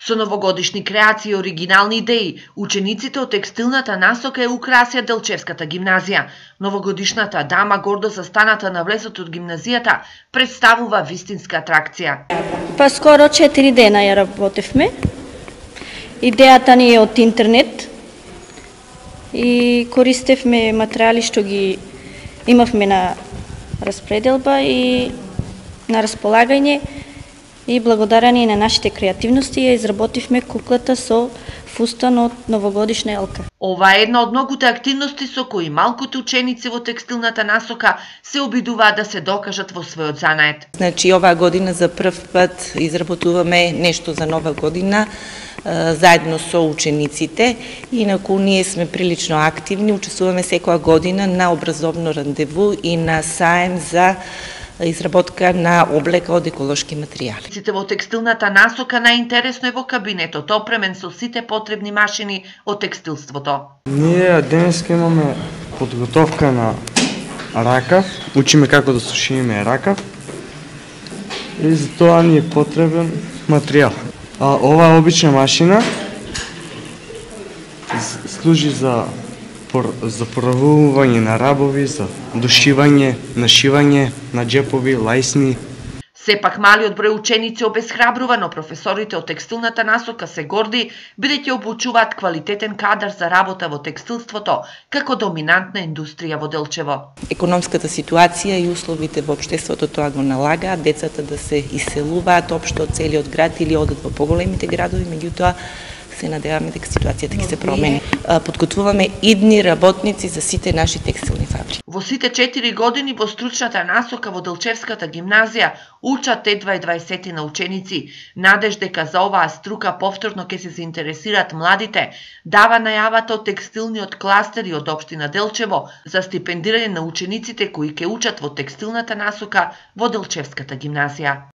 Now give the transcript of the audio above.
Со новогодишни креации и оригинални идеи, учениците од текстилната насока ја украсија Делчевската гимназија. Новогодишната дама, гордо застаната на влезот од гимназијата, представува вистинска атракција. Па скоро 4 дена ја работевме. Идејата ни е од интернет и користевме материјали што ги имавме на распределба и на располагање. И благодарение на нашите креативности ја изработивме куклата со фустан од новогодишна елка. Ова е една од многуте активности со кои малкуте ученици во текстилната насока се обидуваат да се докажат во својот занает. Значи, оваа година за прв пат изработуваме нешто за нова година заедно со учениците. Инаку ние сме прилично активни, учествуваме секоја година на образовно рандеву и на саем за изработка на облека од еколошки материјали. Сите во текстилната насока најинтересно е во кабинетот, опремен со сите потребни машини од текстилството. Ние денеска имаме подготовка на ракав, учиме како да сушиме ракав и за тоа ни е потребен материјал. Оваа обична машина служи за поравување на рабови, за дошивање, нашивање на џепови, лајсни. Сепак малиот број ученици обесхрабрува, но професорите од текстилната насока се горди, бидејќи обучуваат квалитетен кадар за работа во текстилството, како доминантна индустрија во Делчево. Економската ситуација и условите во општеството тоа го налагаат децата да се иселуваат општо од целиот град или одат во поголемите градови, меѓутоа се надеваме дека ситуацијата ќе се промени. Подготвуваме идни работници за сите наши текстилни фабрики. Во сите 4 години во стручната насока во Делчевската гимназија учат едва 20 на ученици. Надеж дека за оваа струка повторно ќе се заинтересираат младите, дава најавата од текстилниот кластер и од општина Делчево за стипендирање на учениците кои ќе учат во текстилната насока во Делчевската гимназија.